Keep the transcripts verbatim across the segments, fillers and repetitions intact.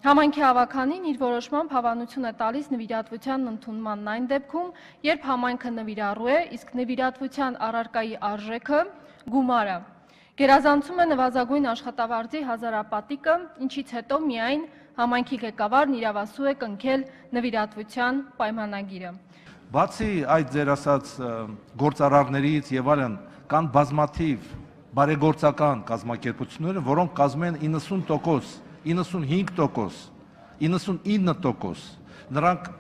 Համայնքի ավականին իր որոշմամբ հավանություն է տալիս նվիրատվության ընդունման այն դեպքում, երբ համայնքը նվիրառու է, իսկ նվիրատվության առարկայի արժեքը գումարը գերազանցում է նվազագույն աշխատավարձի հազարապատիկը, ինչից հետո միայն համայնքի ղեկավարն իրավասու է կնքել նվիրատվության պայմանագիրը։ Բացի այդ ձեր ասած գործարարներից եւ այլն կան բազմաթիվ բարեգործական կազմակերպություններ, որոնք կազմում են իննսուն տոկոս, իննսունհինգ տոկոս, իննսունինը տոկոս, նրանք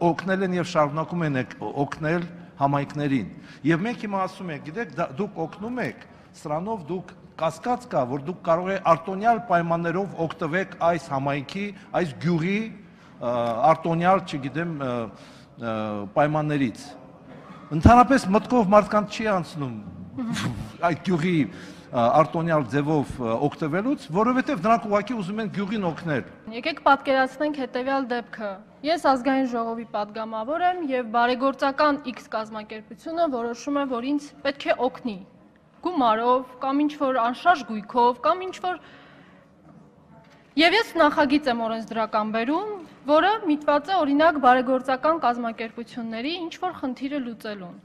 օգնել են եւ շարունակում են օգնել համայնքներին։ Եվ մենք հիմա ասում ենք, գիտեք, դուք օգնում եք, սրանով դուք կասկած կա, որ դուք կարող եք արտոնյալ պայմաններով օգտվեք այս համայնքի, այս գյուղի արտոնյալ, չգիտեմ, պայմաններից։ Ընդհանրապես մտքով մարդկանց չի անցնում այդ գյուղի արտոնյալ ձևով օգտվելուց, որովհետև նրանք ուղղակի ուզում են գյուղին օգնել։ Եկեք պատկերացնենք հետևյալ դեպքը։ Ես ազգային ժողովի պատգամավոր եմ եւ բարեգործական X կազմակերպությունը որոշում է, որ ինձ պետք է օգնի գումարով կամ ինչ-որ անշարժ գույքով կամ ինչ-որ եւ ես նախագիծ եմ օրենսդրական բերում, որը միտված է օրինակ բարեգործական կազմակերպությունների ինչ-որ խնդիրը լուծելուն։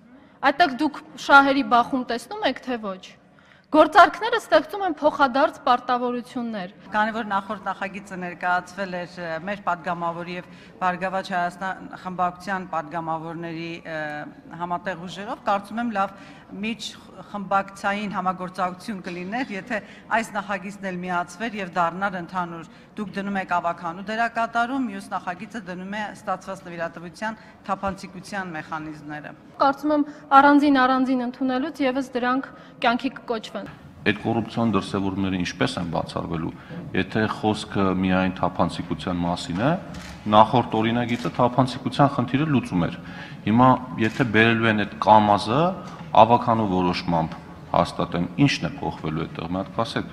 Այդտեղ դուք շահերի բախում տեսնում եք, թե ոչ։ Գործարքները ստեղծում են փոխադարձ պարտավորություններ։ Քանի որ նախորդ նախագիծը ներկայացվել էր մեր պատգամավորի եւ Բարգավաճ Հայաստան խմբակցության պատգամավորների համատեղ ուժերով, կարծում եմ լավ միջխմբակցային համագործակցություն կլիներ, եթե այս նախագիծն էլ միացվեր եւ դառնար ընդհանուր։ Դուք դնում եք ավականու դերակատարում, մյուս նախագիծը դնում է ստացված նվիրատվության թափանցիկության մեխանիզմները։ Կարծում եմ առանձին առանձին ընդունելուց եւս դրանք կյանքի կկոչվեն։ Այդ կոռուպցիոն դրսևորումները ինչպես են բացառվելու, եթե խոսքը միայն թափանցիկության մասին է, նախորդ օրինագիծը թափանցիկության խնդիրը լուծում էր։ Հիմա եթե բերելու են այդ կամազը ավականու որոշմամբ հաստատեն, ի՞նչն է փոխվելու այդտեղ, մի հատ կասեք։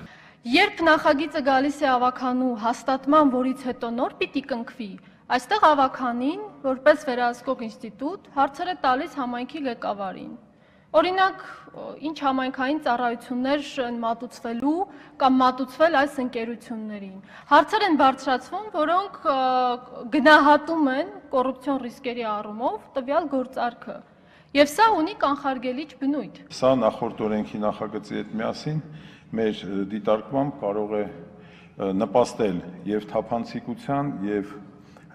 Երբ նախագիծը գալիս է ավականու հաստատման, որից հետո նոր պիտի կնքվի, այստեղ ավականին, որպես վերահսկող ինստիտուտ, հարցեր է տալիս համայնքի ղեկավարին։ Օրինակ, ինչ համայնքային ծառայություններ են մատուցվելու կամ մատուցվել այս ընկերություններին։ Հարցեր են բարձրացվում, որոնք գնահատում են կոռուպցիոն ռիսկերի առումով տվյալ գործարքը։ Եվ սա ունի կանխարգելիչ բնույթ։ Սա նախորդ օրենքի նախագծի հետ միասին մեր դիտարկմամբ կարող է նպաստել եւ թափանցիկության եւ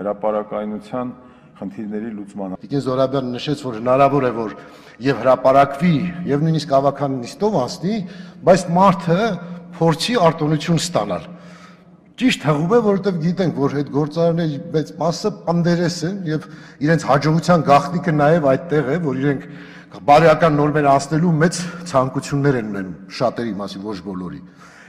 հրապարակայնության խնդիրների լուծմանը։ Տիկին Զոհրաբյանը նշեց, որ հնարավոր է, որ եւ հրապարակվի, եւ նույնիսկ ավականին նիստով անցնի, բայց մարդը փորձի արտոնություն ստանալ։ Ճիշտ հղում է, որովհետեւ գիտենք, որ այդ գործարարների մեծ մասը պանդերես են եւ իրենց հաջողության գաղտնիքը նաեւ այդտեղ է, որ իրենք բարոյական նորմեր անցնելու մեծ ցանկություններ են ունենում, շատերի մասին, ոչ բոլորի։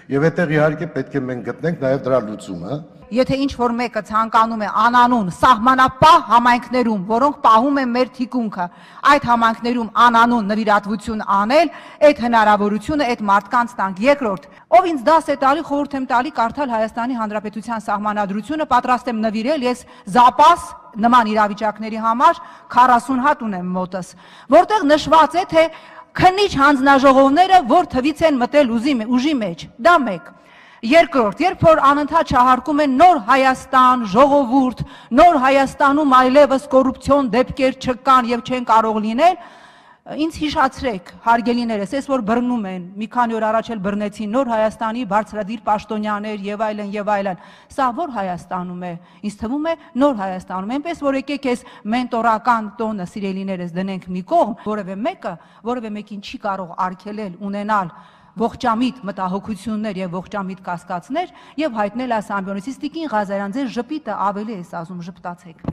Եվ այդտեղ իհարկե պետք է մենք գտնենք նաեւ դրա լուծումը։ Եթե ինչ-որ մեկը ցանկանում է անանուն սահմանապահ համայնքներում, որոնք պահում են մեր թիկունքը, այդ համայնքներում անանուն նվիրատվություն անել, այդ հնարավորությունը այդ մարդկանց տանք։ Երկրորդ, ով ինձ դաս է տալի, խորհուրդ եմ տալի կարդալ Հայաստանի Հանրապետության սահմանադրությունը, պատրաստ եմ նվիրել, ես զապաս նման իրավիճակների համար քառասուն հատ ունեմ մոտս, որտեղ նշված է, թե քննիչ հանձնաժողովները որ թվից են մտել ուժի մեջ, դա մեկ։ Երկրորդ, երբ որ անընդհատ շահարկում են նոր Հայաստան, ժողովուրդ, նոր Հայաստանում այլևս կոռուպցիոն դեպքեր չկան եւ չեն կարող լինել, ինձ հիշացրեք, հարգելիներս, ես որ բռնում են, մի քանի օր առաջ էլ բռնեցին նոր Հայաստանի բարձրադիր պաշտոնյաներ եւ այլն եւ այլն, սա որ Հայաստանում է, ինձ թվում է նոր Հայաստանում, այնպես որ եկեք այս մենտորական տոնը սիրելիներս դնենք մի կողմ, որևէ մեկը, որևէ մեկին չի կարող արգելել ունենալ ողջամիտ մտահոգություններ եւ ողջամիտ կասկածներ եւ հայտնել այս ամբիոնից։ Տիկին Ղազարյան, ձեր ժպիտը ավելի է ասում, ժպտացեք։